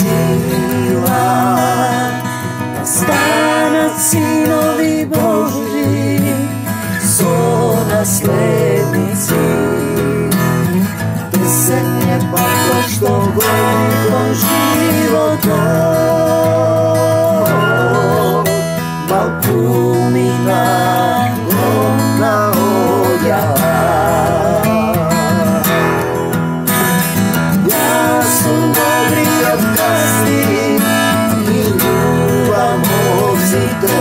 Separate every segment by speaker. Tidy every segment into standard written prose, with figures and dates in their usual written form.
Speaker 1: сила, да станат синови Божи со наследници. Песен е пак што годи кон животот, малкумина громна оѓава. Јас сум добриот гастин и љубам овците,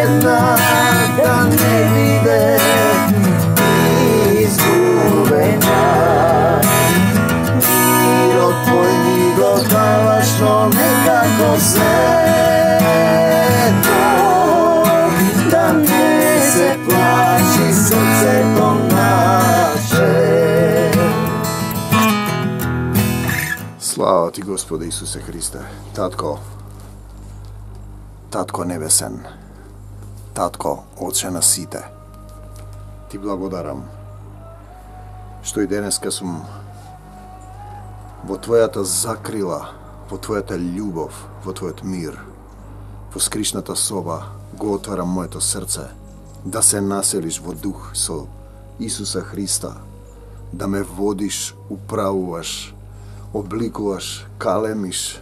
Speaker 1: една да не биде изгубена. Мирот твој ми го даваш, но некако сето, да не се плачи срцето наше.
Speaker 2: Слава ти, Господи Исусе Христе, Татко, Татко небесен, Татко, Отче на сите, ти благодарам што и денеска сум во Твојата закрила, во Твојата љубов, во Твојот мир, во скришната соба го отварам моето срце, да се населиш во дух со Исуса Христа, да ме водиш, управуваш, обликуваш, калемиш,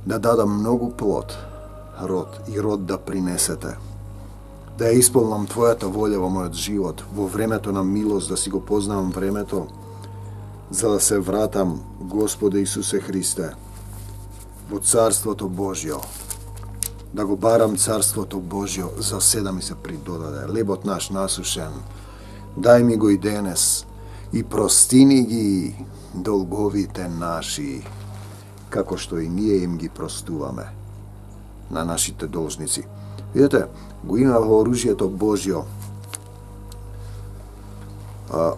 Speaker 2: да дадам многу плод, род и род да принесете, да ја исполнам Твојата волја во мојот живот, во времето на милост, да си го познавам времето, за да се вратам, Господе Исусе Христе, во Царството Божјо, да го барам Царството Божјо, за седа ми се придодаде, лебот наш насушен, дај ми го и денес, и простини ги долговите наши, како што и ние им ги простуваме на нашите должници. Видете, го има во оружјето Божјо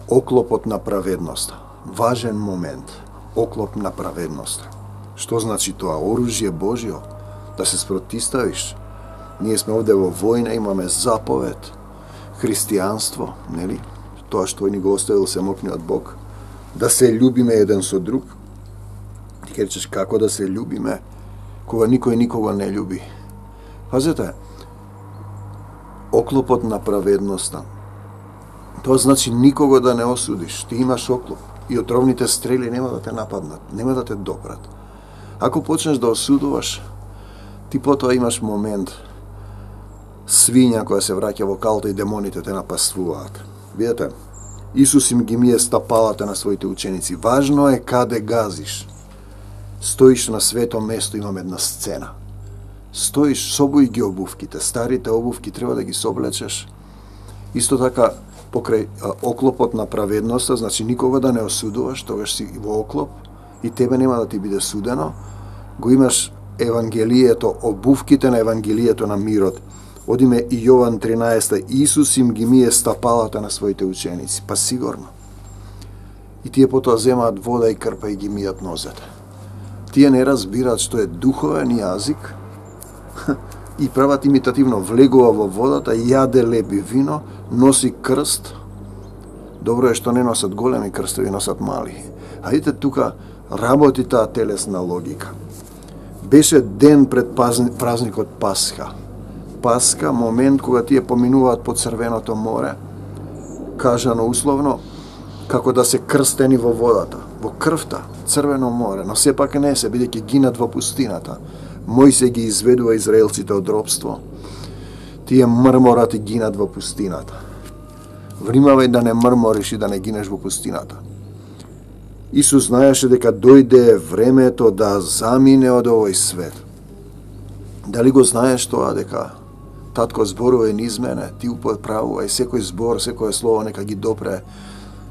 Speaker 2: оклопот на праведност. Важен момент, оклоп на праведност. Што значи тоа? Оружје Божјо, да се спротиставиш. Ние сме овде во војна, имаме заповед, христијанство, нели? Тоа што ни го оставил самокниот Бог, да се љубиме еден со друг. Ти ќе речеш како да се љубиме, кога никој никого не љуби. Пазете, оклопот на праведноста. Тоа значи никого да не осудиш. Ти имаш оклоп и отровните стрели нема да те нападнат, нема да те допрат. Ако почнеш да осудуваш, ти потоа имаш момент свиња која се враќа во калта и демоните те напаствуваат. Видете, Исус им ги мие стапалата на своите ученици. Важно е каде газиш. Стоиш на свето место, имам една сцена. Стоиш, собој ги обувките, старите обувки треба да ги соблечеш. Исто така, покрај оклопот на праведноста, значи никога да не осудуваш, тогаш си во оклоп и тебе нема да ти биде судено. Го имаш Евангелието, обувките на Евангелието на мирот. Одиме и Јован 13. Исус им ги мие стапалата на своите ученици. Па сигурно. И тие потоа земаат вода и крпа и ги мијат нозете. Тие не разбираат што е духовен јазик и прават имитативно, влегува во водата, јаде лепи вино, носи крст. Добро е што не носат големи крстови, носат мали. А видите, тука работи таа телесна логика. Беше ден пред празникот Пасха. Пасха, момент кога тие поминуваат по Црвеното море, кажано условно, како да се крстени во водата, во крвта, Црвено море, но сепак не се, бидејќи гинат во пустината. Мојсе ги изведува израелците од робство. Тие мрморат и гинат во пустината. Внимавај да не мрмориш и да не гинеш во пустината. Исус знаеше дека дојде времето да замине од овој свет. Дали го знаеш тоа дека Татко зборува низ мене, ти употправувај секој збор, секој слово нека ги допре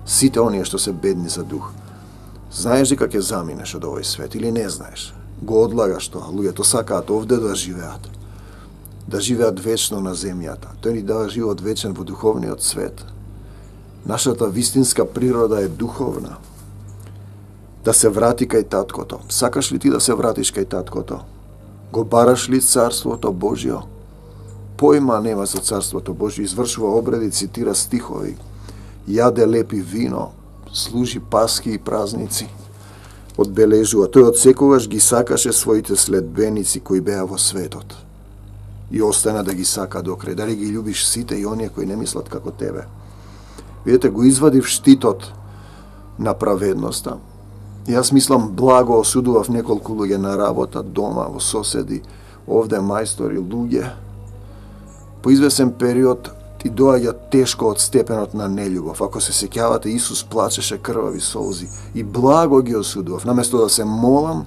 Speaker 2: сите оние што се бедни за дух. Знаеш дека ќе заминеш од овој свет или не знаеш? Го одлагаш тоа. Луѓето сакаат овде да живеат. Да живеат вечно на земјата. Тој ни дава живот вечен во духовниот свет. Нашата вистинска природа е духовна. Да се врати кај Таткото. Сакаш ли ти да се вратиш кај Таткото? Го бараш ли Царството Божјо? Појма нема за Царството Божјо. Извршува обреди, цитира стихови. Јаде лепи вино, служи паски и празници. одбележува. Тој од секогаш ги сакаше своите следбеници кои беа во светот. И остана да ги сака до крај. Дали ги љубиш сите и оние кои не мислат како тебе? Видете, го извадив штитот на праведноста. Јас мислам, благо осудував неколку луѓе на работа, дома, во соседи, овде мајстори, луѓе. По извесен период ти доаѓа тешко од степенот на нељубов. Ако се сеќавате, Исус плачеше крвави солзи и благо ги осудував. Наместо да се молам,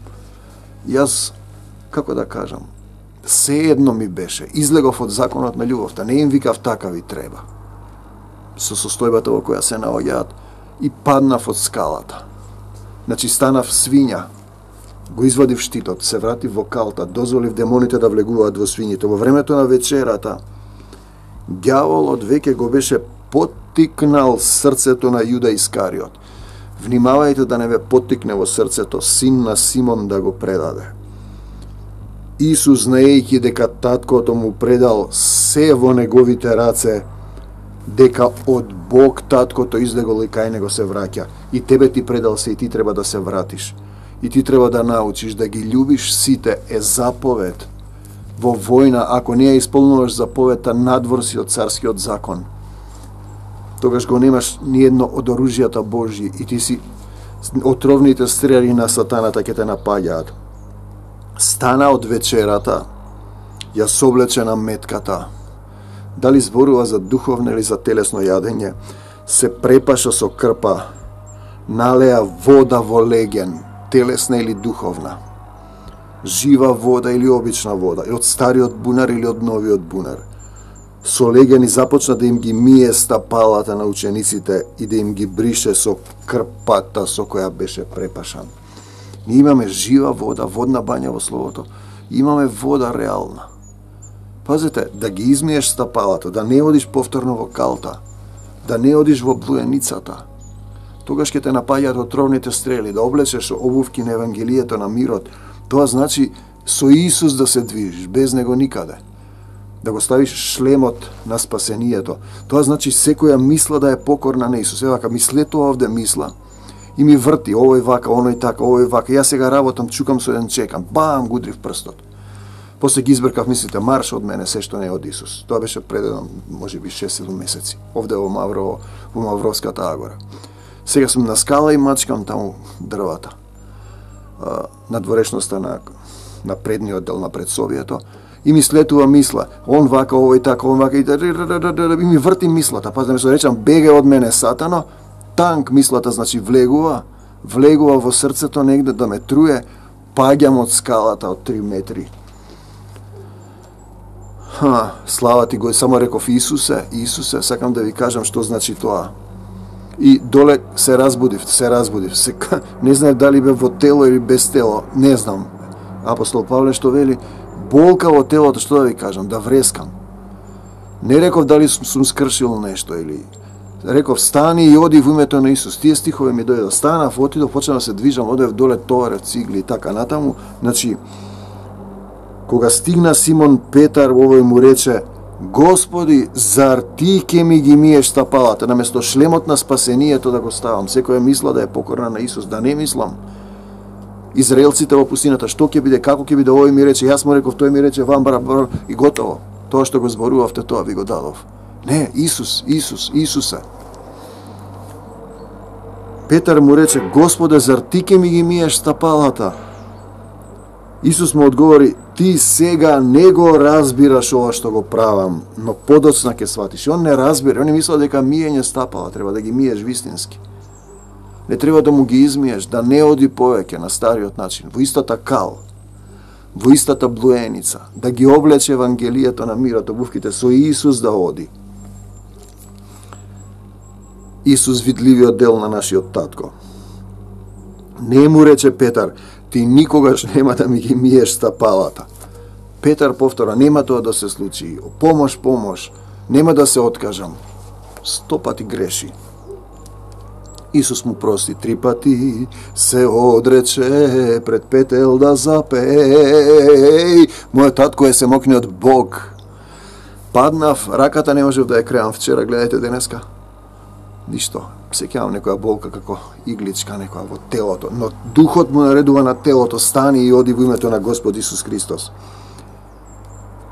Speaker 2: јас, како да кажам, се едно ми беше. Излегов од законот на љубовта, не им викав така ви треба. Со состојбата во која се наоѓаат и паднав од скалата. Значи станав свиња, го извадив штитот, се вратив во калта, дозволив демоните да влегуваат во свињите. Во времето на вечерата, ѓаволот веќе го беше поттикнал срцето на Јуда Искариот. Внимавајте да не ве поттикне во срцето син на Симон да го предаде. Исус, знаејќи дека таткото му предал се во неговите раце, дека од Бог таткото излегол и кај него се враќа. И тебе ти предал се и ти треба да се вратиш. И ти треба да научиш да ги љубиш сите е заповед. Во војна, ако не ја исполнуваш заповедта, надвор си од царскиот закон. Тогаш го немаш ни едно од оружјата Божји и ти си отровните стрели на сатаната ќе те напаѓаат. Стана од вечерата, ја соблече на метката. Дали зборува за духовно или за телесно јадење, се препаша со крпа, налеа вода во леген, телесна или духовна. Жива вода или обична вода, и од стариот бунар или од новиот бунар. Со легени започна да им ги мие стапалата на учениците и да им ги брише со крпата со која беше препашан. Ние имаме жива вода, водна бања во Словото. Имаме вода реална. Пазете, да ги измиеш стапалата, да не одиш повторно во калта, да не одиш во блуеницата. Тогаш ќе те напаѓаат отровните стрели, да облечеш обувки на Евангелието на мирот. Тоа значи со Исус да се движиш, без него никаде. Да го ставиш шлемот на спасението. Тоа значи секоја мисла да е покорна на Исус. Евака, мислето овде мисла и ми врти, овој вака, оној така, овој вака. Јас сега работам, чукам со еден чекам, бам, гудрив прстот. После ги избркав, мислите, марш од мене, се што не е од Исус. Тоа беше пред еден, може би 6-7 месеци, овде во Маврово, во Мавровската агора. Сега сум на скала и мачкам таму дрвата. На дворешноста на предниот дел на предсобието. И ми слетува мисла, он вака, овој така, он вака, и ми врти мислата. Па да ми се речам, беге од мене сатано, танк мислата, значи влегува во срцето негде да ме труе, паѓам од скалата од 3 метри. Слава ти го, само реков Исусе, сакам да ви кажам што значи тоа. И доле се разбудив. Не знаев дали бе во тело или без тело, не знам. Апостол Павле што вели, болка во телото, што да ви кажам, да врескам. Не реков дали сум скршил нешто или... Реков, стани и оди во името на Исус. Тие стихови ми дојдоа. Станав, отидов, почнав да се движам, одев доле, товарев цигли и така натаму. Значи, кога стигна Симон Петар, овој му рече, Господи, зар ти ке ми ги миеш стапалата, наместо шлемот на спасението да го ставам. Секоја мисла да е покорна на Исус, да не мислам. Израелците во пустината, што ќе биде, како ќе биде, овој ми рече, јас му реков, тој ми рече, вамбара, и готово. Тоа што го зборувавте, тоа ви го дадов. Не, Исусе. Петар му рече, Господе, зар ти ке ми ги миеш стапалата? Исус му одговори, ти сега не го разбираш ова што го правам, но подоцна ќе сватиш. Он не разбира, он не мисла дека миење стапала, треба да ги миеш вистински. Не треба да му ги измиеш, да не оди повеќе на стариот начин, во истата кал, во истата блуеница, да ги облече Евангелието на мирот, обувките со Исус да оди. Исус, видливиот дел на нашиот татко. Не му рече Петар, ти никогаш нема да ми ги миеш стапалата. Петар повтора, нема тоа да се случи. Помош, нема да се откажам. 100 пати греши. Исус му прости 3 пати, се одрече пред петел да запеј. Мојот татко е семокниот Бог. Паднав, раката не можев да ја креам вчера, гледајте денеска. Ништо. сеќавам некоја болка како игличка некоја во телото, но духот му наредува на телото, стани и оди во името на Господ Исус Христос.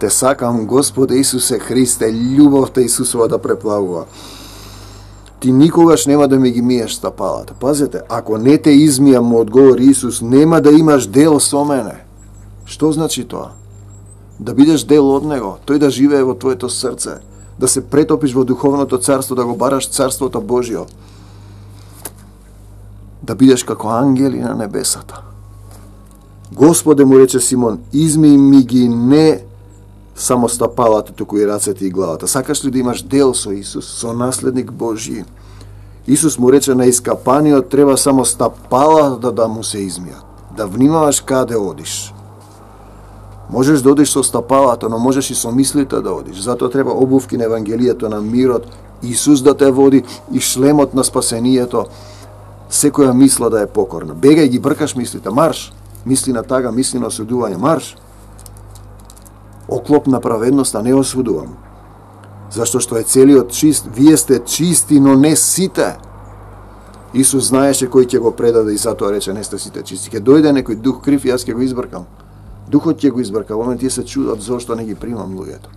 Speaker 2: Те сакам, Господе Исусе Христе, љубовта Исусова да преплавува. Ти никогаш нема да ми ги миеш стапалата. Пазете, ако не те измијам, му одговори Исус, нема да имаш дел со мене. Што значи тоа? Да бидеш дел од Него, тој да живее во твоето срце, да се претопиш во духовното царство, да го бараш царството Божјо, да бидеш како ангели на небесата. Господе, му рече Симон, изми ми ги не само стапалата, туку и рацете и главата. Сакаш ли да имаш дел со Исус, со наследник Божји? Исус му рече, на искапаниот треба само стапалата да му се измијат. Да внимаваш каде одиш. Можеш да одиш со стапалата, но можеш и со мислите да одиш. Затоа треба обувки на Евангелието на мирот, Исус да те води и шлемот на спасението. Секоја мисла да е покорна. Бегај ги бркаш мислите, марш. Мисли на тага, мисли на осудување, марш. Оклоп на праведноста не осудувам. Зашто што е целиот чист, вие сте чисти, но не сите. Исус знаеше кој ќе го предаде и затоа рече, не сте сите чисти. Ке дојде некој дух крив и јас ќе го избркам. Духот ќе го избрка. Во момент тие се чудат зошто не ги примам луѓето.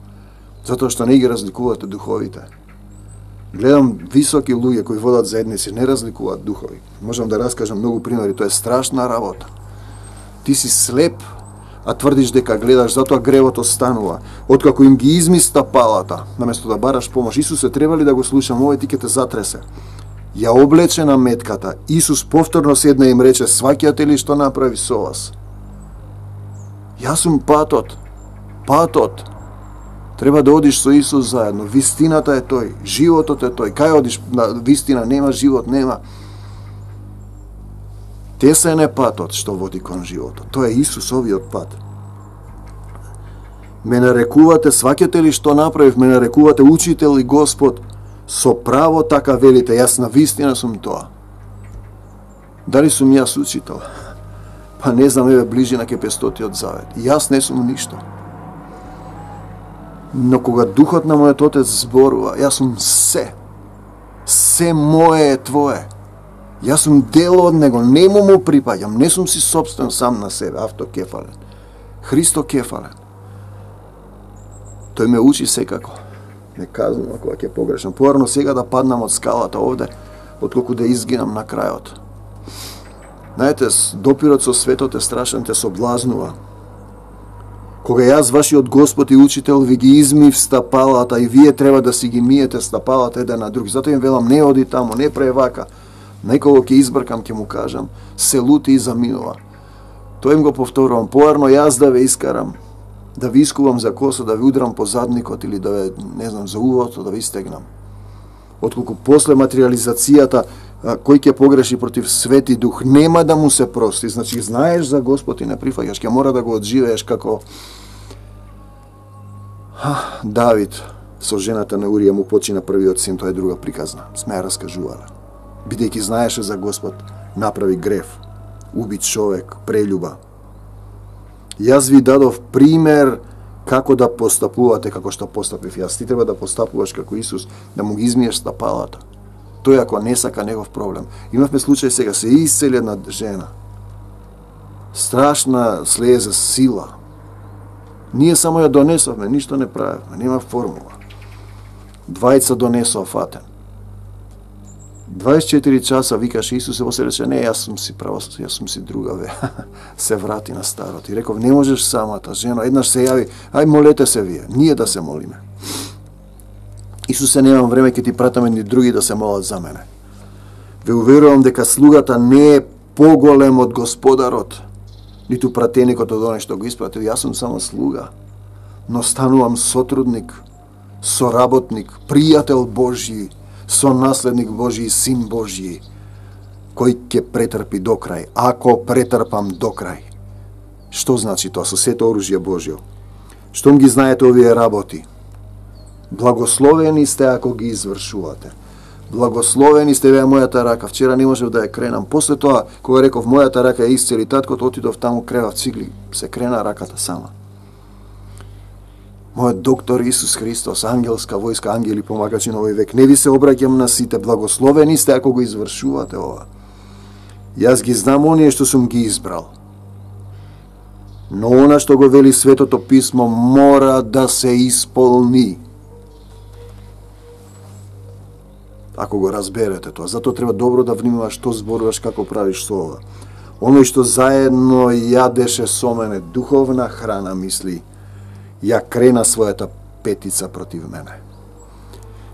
Speaker 2: Затоа што не ги разликувате духовите. Гледам високи луѓе кои водат заедници, не разликуваат духови. Можам да раскажам многу примери, тоа е страшна работа. Ти си слеп, а тврдиш дека гледаш, затоа гревот останува. Откако им ги изми стапалата, наместо да бараш помош, Исусе, треба ли да го слушам, овој ти ќе те затресе. Ја облече на метката, Исус повторно седна и им рече, сваќате ли што направи со вас? Јас сум патот. Патот. Треба да одиш со Исус заедно. Вистината е тој. Животот е тој. Кај одиш на вистина нема, живот нема. Тесен е патот што води кон животот. Тоа е Исусовиот пат. Ме нарекувате, сваќате ли што направив, ме нарекувате учител и Господ. Со право така велите, јас на вистина сум тоа. Дали сум јас учител? Па не знам, еве ближина ке 500-тиот завет. Јас не сум ништо. Но кога духот на мојот Отец зборува, јас сум се. Се мое е твое. Јас сум дел од него, нему му припаѓам, не сум си собствен сам на себе, автокефален. Христокефален. Тој ме учи секако. Не казвам кога ќе погрешам. Порано сега да паднам од скалата овде, отколку да изгинам на крајот. Знаете, допирот со светот е страшен, те соблазнува. Кога јас, вашиот Господ и учител, ви ги измив стапалата и вие треба да си ги миете стапалата еден на друг. Затоа им велам, не оди таму, не прави вака. Некого ќе избркам, ќе му кажам, се лути и заминува. Тоа им го повторувам. Поарно јас да ве искарам, да ви искувам за коса, да ви удрам по задникот или да ве, не знам, за увото, да ви стегнам. Отколку после материализацијата, кој ќе погреши против Свети Дух, нема да му се прости. Значи, знаеш за Господ и не прифаќаш, ќе мора да го одживееш како Давид со жената на Урија му почина првиот син, тоа е друга приказна. Сме ја раскажувале. Бидејќи знаеше за Господ, направи грев, уби човек, прелюба. Јас ви дадов пример како да постапувате како што постапив јас. Ти треба да постапуваш како Исус, да му ги измиеш стапалата. Тој ако не сака негов проблем. Имавме случај сега, се исцели една жена. Страшна слеза, сила. Ние само ја донесовме, ништо не правевме, нема формула. Двајца донесоа фатен. 24 часа викаше Исусе, во се рече, не, јас сум си друга, ве. Се врати на старот. И реков, не можеш самата, жено, еднаш се јави, ај молете се вие, ние да се молиме. Исусе, немам време, ќе ти пратам едни други да се молат за мене. Ве уверувам дека слугата не е поголем од Господарот, ниту пратеникот од оној што го испратил. Јас сум само слуга, но станувам сотрудник, соработник, пријател Божји, сонаследник Божји и син Божји, кој ќе претрпи до крај, ако претрпам до крај. Што значи тоа со сето оружје Божјо? Штом ги знаете овие работи, благословени сте ако ги извршувате. Благословени сте ве мојата рака. Вчера не можев да ја кренам. После тоа, кога реков мојата рака е исцели таткот, отидов таму, кревав цигли, се крена раката сама. Мојот доктор Исус Христос, ангелска војска, ангели помагачи на овој век. Не ви се обраќам на сите, благословени сте ако го извршувате ова. Јас ги знам оние што сум ги избрал. Но она што го вели Светото писмо мора да се исполни. Ако го разберете тоа, затоа треба добро да внимаваш што зборуваш, како правиш со ова. Оној што заедно јадеше со мене духовна храна, мисли, ја крена својата петица против мене.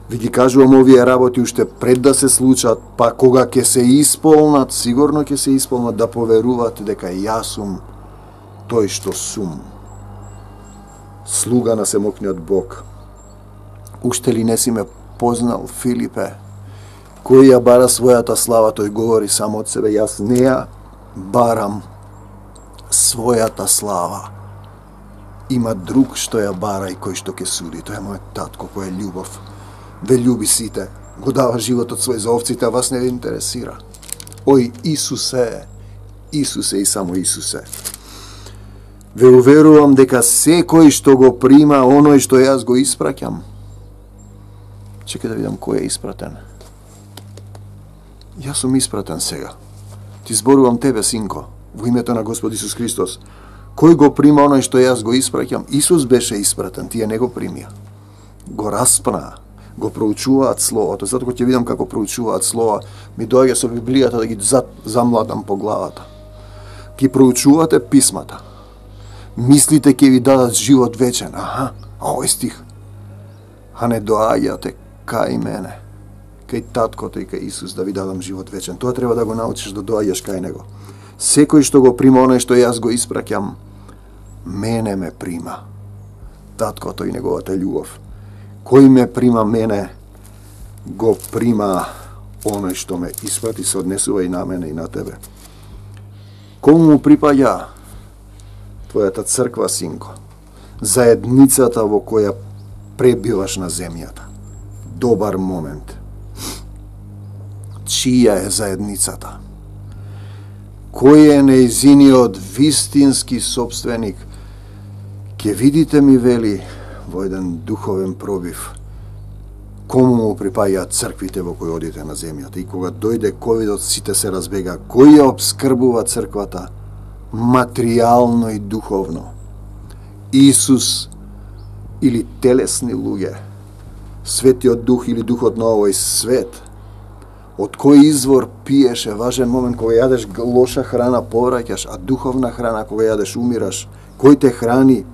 Speaker 2: Ви ги кажувам овие работи уште пред да се случат, па кога ќе се исполнат, сигурно ќе се исполнат, да поверувате дека јас сум тој што сум. Слуга на Семокниот Бог. Уште ли не си ме познал, Филипе? Кој ја бара својата слава, тој говори само од себе. Јас не ја барам својата слава. Има друг што ја бара и кој што ќе суди. Тој е мојот татко кој е љубов. Ве љуби сите. Го дава животот свој за овците, а вас не ве интересира. Ој, Исусе, Исусе и само Исусе. Ве уверувам дека секој што го прима оној што јас го испраќам. Чекај да видам кој е испратен. Јас сум испратен сега. Ти зборувам тебе, синко, во името на Господ Исус Христос. Кој го прима оној што јас го испраќам? Исус беше испратен, тие не го примија. Го распна, го проучуваат Словото. Затоа ќе видам како проучуваат Слова, ми доаѓа со Библијата да ги замладам по главата. Ки проучувате писмата. Мислите ќе ви дадат живот вечен. Аха, а овој стих. А не доаѓате кај мене, кај таткото и кај Исус да ви дадам живот вечен. Тоа треба да го научиш да доаѓаш кај него. Секој што го прима оној што јас го испраќам, мене ме прима. Таткото и неговата љубов. Кој ме прима мене, го прима оној што ме испрати, се однесува и на мене и на тебе. Кому му припаѓа твојата црква, синко? Заедницата во која пребиваш на земјата. Добар момент. Чија е заедницата? Кој е нејзиниот вистински собственик? Ке видите, ми вели во еден духовен пробив, кому му припаѓаат црквите во кои одите на земјата. И кога дојде ковидот, сите се разбега. Кој ја обскрбува црквата? Материјално и духовно. Исус или телесни луѓе? Светиот Дух или Духот на овој свет? Од кој извор пиеше? Важен момент, кога јадеш лоша храна повраќаш, а духовна храна кога јадеш умираш. Кој те храни?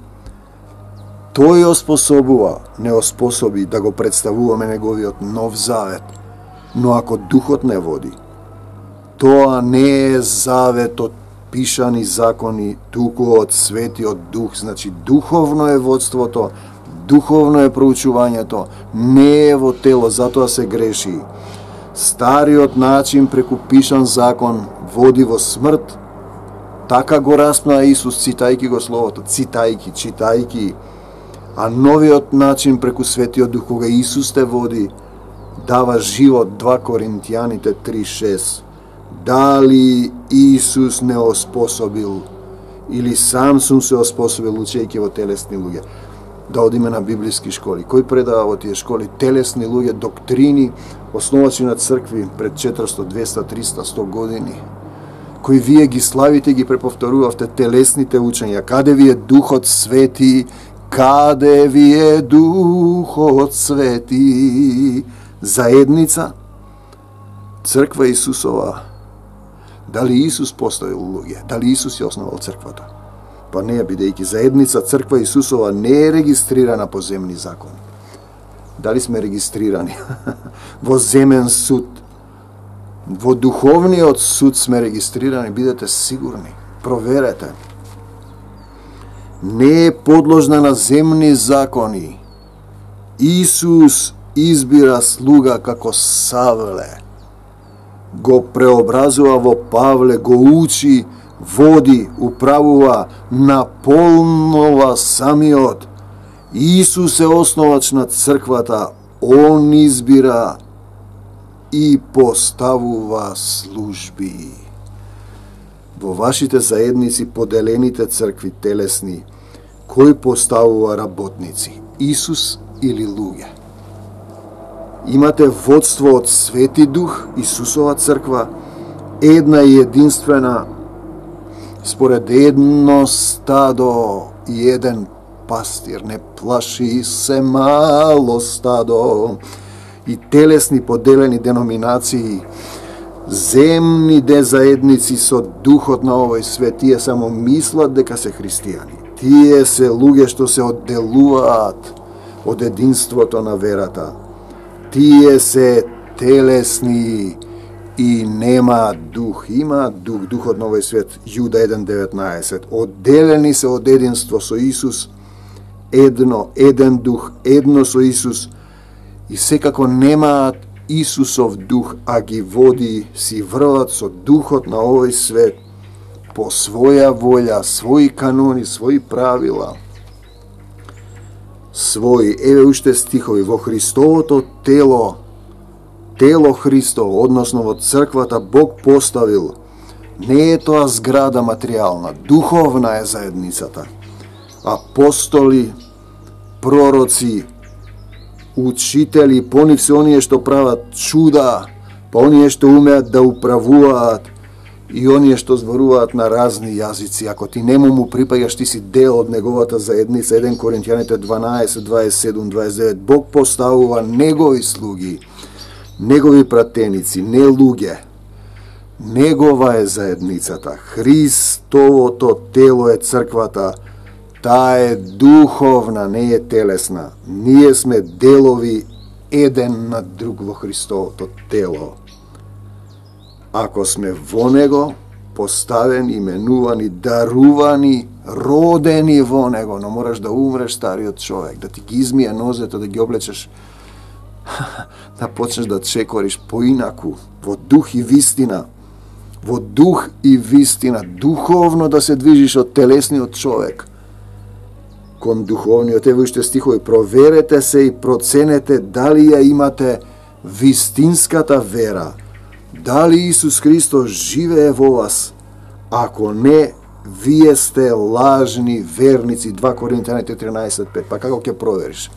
Speaker 2: Тој оспособува, не оспособи да го представуваме неговиот нов завет. Но ако Духот не води, тоа не е завет од пишани закони, туку од Светиот Дух. Значи, духовно е водството, духовно е проучувањето, не е во тело, затоа се греши. Стариот начин преку пишан закон води во смрт. Така го распна Исус, цитајки го Словото, читајки. А новиот начин преку Светиот Дух, кога Исус те води, дава живот. 2 Коринтијаните 3:6. Дали Исус не оспособил или сам сум се оспособил учејќи во телесни луѓе? Да одиме на библиски школи. Кој предава во тие школи? Телесни луѓе, доктрини, основачи на цркви пред 400, 200, 300, 100 години. Кои вие ги славите, ги преповторувавте телесните учења. Каде ви е Духот Свети? Каде ви е Духот Свети? Заедница? Црква Исусова. Дали Исус поставил луѓе? Дали Исус ја основал црквата? Па не, бидејќи заедница црква Исусова не е регистрирана по земни закон. Дали сме регистрирани во земен суд? Во духовниот суд сме регистрирани, бидете сигурни. Проверете. Не е подложна на земни закони. Исус избира слуга како Савле. Го преобразува во Павле, го учи, води, управува, наполнува самиот. Исус е основач на црквата. Он избира и поставува служби. Во вашите заедници, поделените цркви телесни, кој поставува работници? Исус или луѓе. Имате водство од Свети Дух, Исусова црква, една и единствена, според едно стадо и еден пастир. Не плаши се мало стадо. И телесни поделени деноминации, земни заедници со духот на овој свет, тие само мислат дека се христијани. Тие се луѓе што се одделуваат од единството на верата. Тие се телесни и нема дух. Има дух, духот на овој свет, Јуда 1:19. Одделени се од единство со Исус, еден дух, едно со Исус, и секако немаат Исусов дух, а ги води, си врват со духот на овој свет, по своја волја, своји канони, своји правила, своји, еве уште стихови, во Христовото тело Христово, односно во црквата Бог поставил, не е тоа зграда материјална, духовна е заедницата. Апостоли, пророци, учители, по нив се оние што прават чуда, па оние што умеат да управуваат и оние што зборуваат на разни јазици. Ако ти нему му припаѓаш, ти си дел од неговата заедница. 1 Коринќаните 12, 27, 29. Бог поставува негови слуги, негови пратеници, не луѓе. Негова е заедницата. Христовото тело е црквата. Таа е духовна, не е телесна. Ние сме делови еден на друг во Христовото тело. Ако сме во него, поставени, именувани, дарувани, родени во него, но мораш да умреш стариот човек, да ти ги измие нозете, да ги облечеш, да почнеш да чекориш поинаку, во дух и вистина. Во дух и вистина, духовно да се движиш од телесниот човек кон духовниот. Ево уште стихови, проверете се и проценете дали ја имате вистинската вера, дали Исус Христос живее во вас. Ако не, вие сте лажни верници. 2 Коринќаните 13:5. Па како ќе провериш?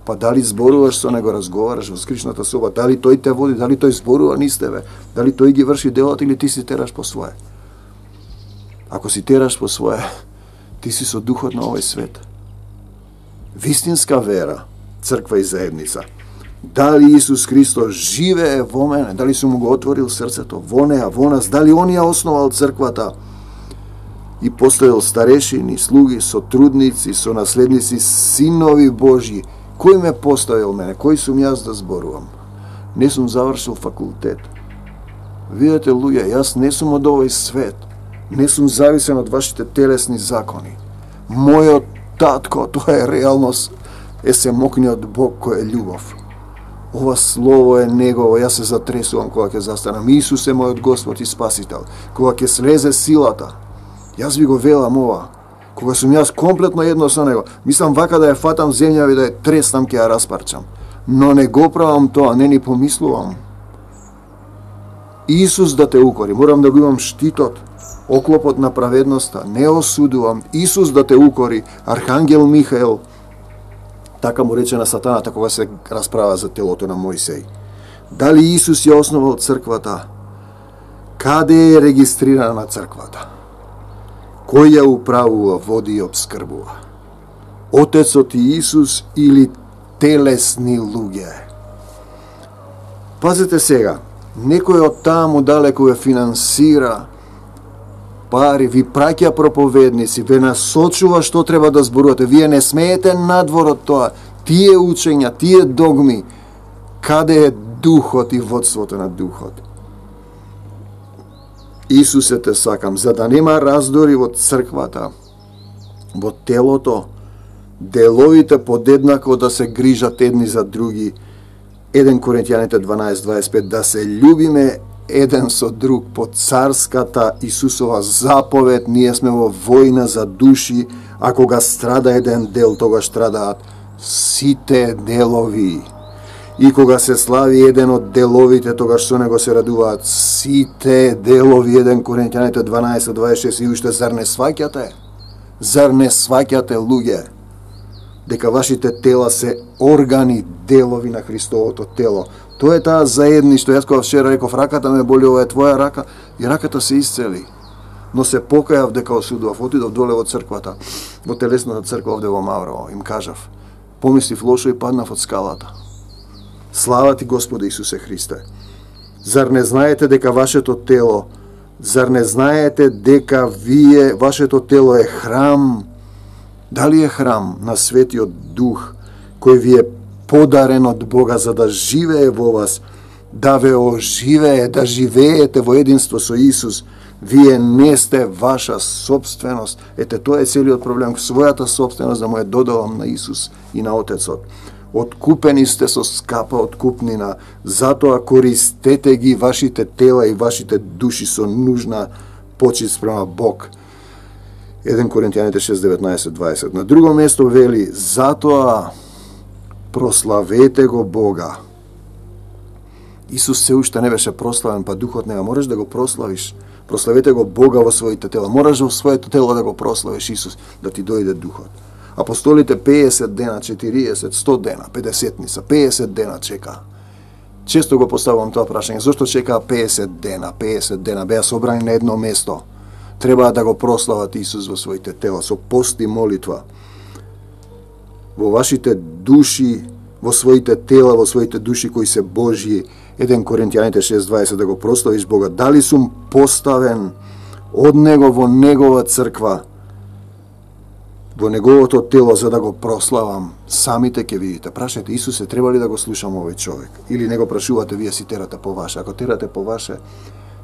Speaker 2: Па дали зборуваш со него, разговараш во скришната соба, дали тој те води, дали тој зборува низ тебе, дали тој ги врши делот или ти си тераш по свое. Ако си тераш по свое, ти си со духот на овој свет. Вистинска вера, црква и заедница. Дали Исус Христос живее во мене, дали сум му го отворил срцето во неа, во нас, дали он ја основал црквата и поставил старешини, слуги, сотрудници, сонаследници, синови Божји. Кој ме поставил мене? Кој сум јас да зборувам? Не сум завршил факултет. Видете, луѓе, јас не сум од овој свет. Не сум зависен од вашите телесни закони. Мојот татко, тоа е реалност, е семокниот Бог кој е љубов. Ова слово е негово, јас се затресувам кога ќе застанам. Исус е мојот Господ и Спасител. Кога ќе слезе силата, јас ви го велам ова. Кога сум јас комплетно едно со него, мислам вака да ја фатам земја и да ја треснам, ќе ја распарчам. Но не го правам тоа, не ни помислувам. Исус да те укори, морам да го имам штитот, оклопот на праведноста, не осудувам. Исус да те укори, Архангел Михаел, така му рече на сатаната кога се расправа за телото на Мојсей. Дали Исус ја основал црквата? Каде е регистрирана црквата? Кој ја управува, води и обскрбува? Отецот и Исус или телесни луѓе? Пазете сега, некој од таму далеко ве финансира, пари, ви праќа проповедници, ве насочува што треба да зборувате. Вие не смеете надвор од тоа. Тие учења, тие догми, каде е духот и водството на духот? Исусе, те сакам, за да нема раздори во црквата, во телото, деловите подеднако да се грижат едни за други. 1 Коринќаните 12:25, да се љубиме еден со друг по царската Исусова заповед. Ние сме во војна за души, а кога страда еден дел, тогаш страдаат сите делови. И кога се слави еден од деловите, тогаш со него се радуваат сите делови. 1 Коринќаните 12:26. И уште, зар не сваќате? Зар не сваќате, луѓе? дека вашите тела се органи, делови на Христовото тело. Тоа е таа заедништво. Јас кога вчера реков, раката ме боли, ова е твоја рака, и раката се исцели. Но се покајав дека осудував, отидов доле во црквата, во телесната црква овде во Маврово, им кажав, помислив лошо и паднав од скалата. Слава ти, Господи Исусе Христе! Зар не знаете дека вашето тело, зар не знаете дека вашето тело е храм? Дали е храм на Светиот Дух, кој ви е подарен од Бога за да живее во вас, да ве оживее, да живеете во единство со Исус? Вие не сте ваша собственост. Ете, тоа е целиот проблем. Својата собственост да му е додавам на Исус и на Отецот. Откупени сте со скапа откупнина, затоа користете ги вашите тела и вашите души со нужна почит спрема Бог. 1 Коринтијаните 6:19-20. На друго место вели, затоа прославете го Бога. Исус се уште не беше прославен, па Духот не можеш да го прославиш. Прославете го Бога во своите тела. Мораш во своето тело да го прославиш Исус, да ти дојде Духот. Апостолите 50 дена, 40, 100 дена, 50-ница, 50 дена чека. Често го поставувам тоа прашање. Зошто чекаа 50 дена? 50 дена беа собрани на едно место. Треба да го прослават Исус во своите тела, со пост и молитва. Во вашите души, во своите тела, во своите души кои се Божји, 1 Коринтијаните 6:20, да го прославиш Бога. Дали сум поставен од Него во Негова црква, во Неговото тело, за да го прославам? Самите ќе видите. Прашајте Исусе, треба ли да го слушам овој човек? Или не го прашувате, вие си терате по ваше? Ако терате по ваше,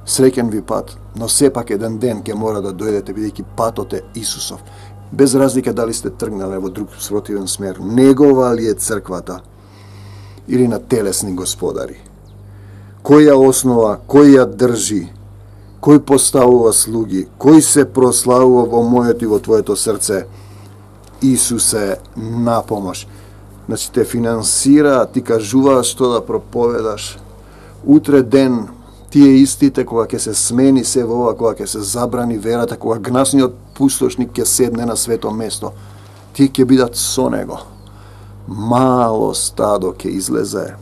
Speaker 2: среќен ви пат, но сепак еден ден ќе мора да дојдете, бидејќи патот е Исусов. Без разлика дали сте тргнале во друг спротивен смер. Негова ли е црквата или на телесни господари? Кој ја основа, кој ја држи, кој поставува слуги, кој се прославува во моето и во твоето срце? Исусе, на помош. Значи те финансира, ти кажувааш што да проповедаш. Утре ден тие истите кога ќе се смени се во ова, кога ќе се забрани верата, кога гнасниот пустошник ќе седне на свето место, тие ќе бидат со него. Мало стадо ќе излезе,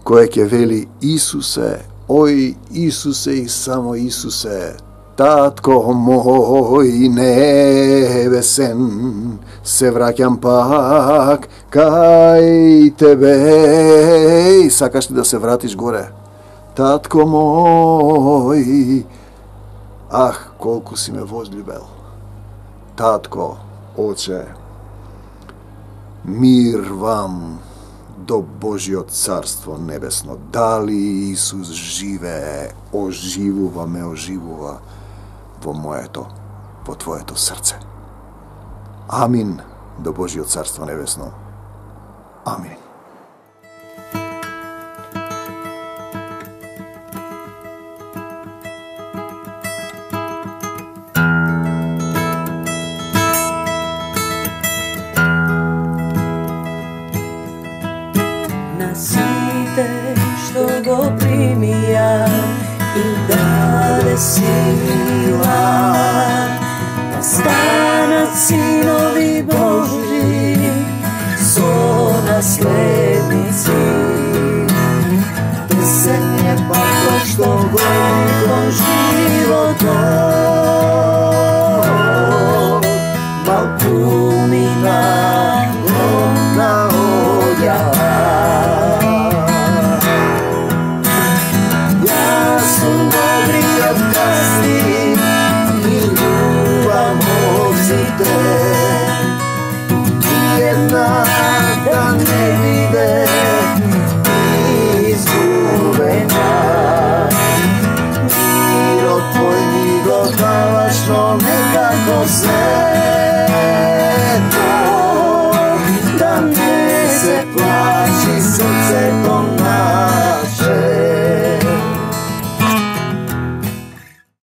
Speaker 2: кое ќе вели Исусе, ој Исусе и само Исусе, Татко мој небесен, се враќам пак кај тебе. И сакаш ли да се вратиш горе? Татко мој, ах, колку си ме возљубел. Татко, Оче, мир вам до Божјиот царство небесно. Дали Исус живее, оживува ме, оживува во моето, во твоето срце. Амин до Божјиот царство небесно. Амин.
Speaker 3: На сите што го примија и даде сила, да станат синови Божи со наследници. Песен е патот што гони кон животот, малкумина громна оѓава. Јас сум добриот гастин, милувам овците, една да не биде изгубена. Мирот твој ми го даваш, но некако се